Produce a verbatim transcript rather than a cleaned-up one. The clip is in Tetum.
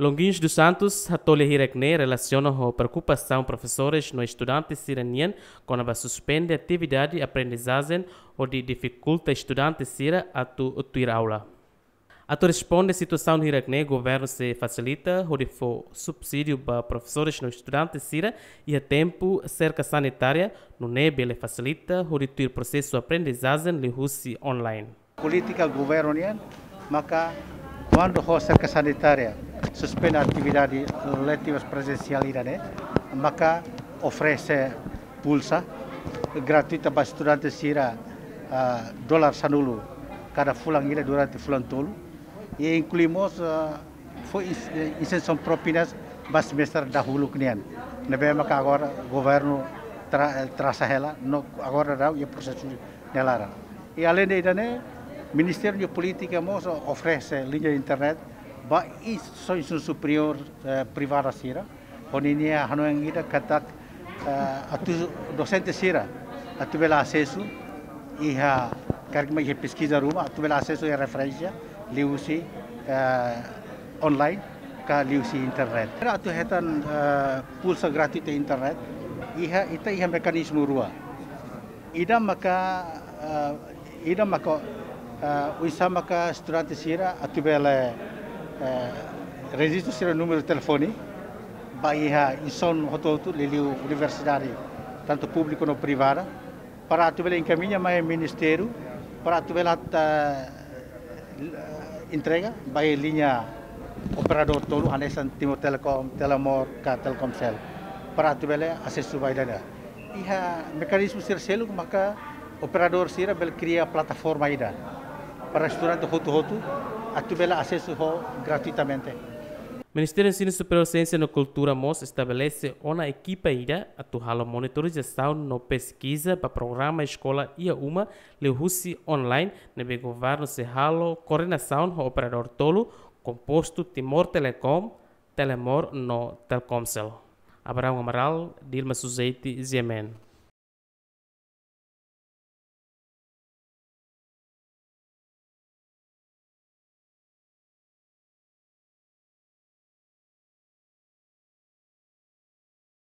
Longuinhos dos Santos hato'o lia hirak-ne'e relasiona ho preokupasaun profesores no estudante sira-nian kona-ba suspende atividade aprendizajen hodi difikulta estudante sira atu tuir aula. Atu responde situasaun hirak-ne'e, governu sei fasilita hodi fó subsídiu ba profesores no estudante sira iha tempu serka sanitária, nune'e bele fasilita hodi tuir prosesu aprendizajen liuhusi online. Polítika governu nian maka kuandu ho serka sanitária suspende atividade letivas prezensiál ida-ne'e, maka oferese pulsa gratuita ba estudante sira, ah, dolar sanulu kada fulan ida durante fulan tolu. I inklui mós, ah, fó ins-, eh, isensaun propinas ba semestre dahuluk nian. Ne'ebé maka agora governu tra-, eh, trasa hela, no agora daudaun iha prosesu ne'e laran. I aleinde ida-ne'e, Ministériu nia Polítika mós oferese liña internet ba instituisaun superiór, eh, privada sira. Ho ninia hanoin ida katak, eh, atu dosente sira atu bele asesu iha, karik mak iha peskiza ruma, atu bele asesu iha referénsia liuhusi, eh, online ka liuhusi internet. Atu hetan, eh, pulsa gratuita internet, iha, ita iha mekanizmu rua. Ida maka, eh, ida maka, eh, oinsá maka estudante sira atu bele, eh, rejistu sira númeru telefone ba iha instituisaun hotu-hotu, liuliu universidade, tantu públiku no privada, para atu bele enkamiña mai ministériu, para atu bele atu, eh, entrega ba iha liña operadór tolu, hanesan Timor Telecom, Telemor ka Telkomcel, para atu bele asesu ba ida-ne'e. Iha mekanizmu sira seluk maka operadór sira bele kria plataforma ida para estudante hotu-hotu atu bele asesu ho gratuitamente. Ministériu Ensinu Superiór, Siénsia no Kultura mós estabelese ona ekipa ida atu halo monitorizasaun no peskiza ba programa eskola iha uma liuhusi online, ne'ebé governu sei halo koordenasaun ho operadór tolu kompostu Timor Telecom, Telemor no Telkomcel. Abraão Amaral, Dilma Suzeti, G M N.